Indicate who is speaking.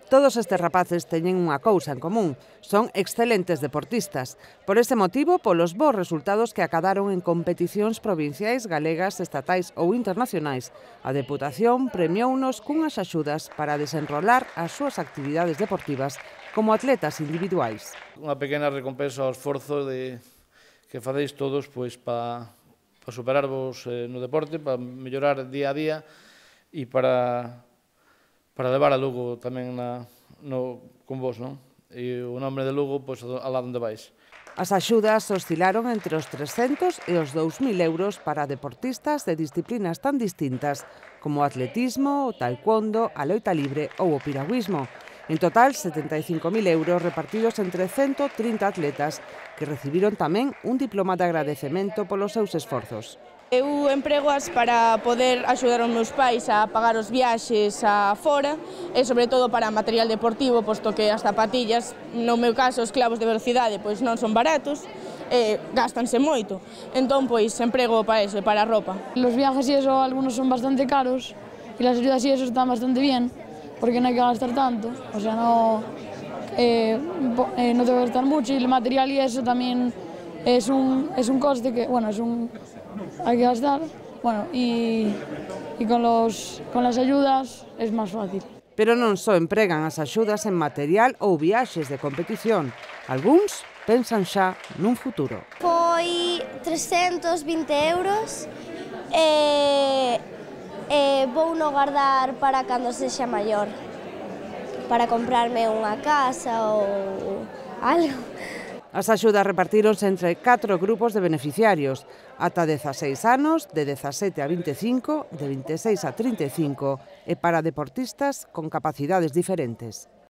Speaker 1: Todos estes rapaces teñen unha cousa en común, son excelentes deportistas. Por ese motivo, polos bons resultados que acadaron en competicións provinciais, galegas, estatais ou internacionais, a Deputación premiounos cunhas axudas para desenrolar as súas actividades deportivas como atletas individuais.
Speaker 2: Unha pequena recompensa ao esforzo que faceis todos para superarvos no deporte, para mellorar día a día e para levar a Lugo tamén con vos, non? E o nome de Lugo, alá onde vais.
Speaker 1: As axudas oscilaron entre os 300 e os 2.000 euros para deportistas de disciplinas tan distintas como o atletismo, o taekwondo, a loita libre ou o piragüismo. En total, 75.000 euros repartidos entre 130 atletas que recibiron tamén un diploma de agradecemento polos seus esforzos.
Speaker 3: Eu empregoas para poder axudar os meus pais a pagar os viaxes a fora e sobre todo para material deportivo, posto que as zapatillas, no meu caso os clavos de velocidade, pois non son baratos e gástanse moito. Entón, pois, emprego para eso, para a ropa.
Speaker 4: Los viajes y eso, algunos son bastante caros y las ayudas y eso están bastante bien porque no hay que gastar tanto, o sea, no tengo que gastar mucho y el material y eso también es un coste que, bueno, hay que gastar, bueno, y con las ayudas es más fácil.
Speaker 1: Pero non só empregan as axudas en material ou viaxes de competición. Algúns pensan xa nun futuro.
Speaker 5: Foi 320 euros e vou no guardar para cando sexa maior, para comprarme unha casa ou algo.
Speaker 1: As axudas repartíronse entre 4 grupos de beneficiarios, ata 16 anos, de 17 a 25, de 26 a 35 e para deportistas con capacidades diferentes.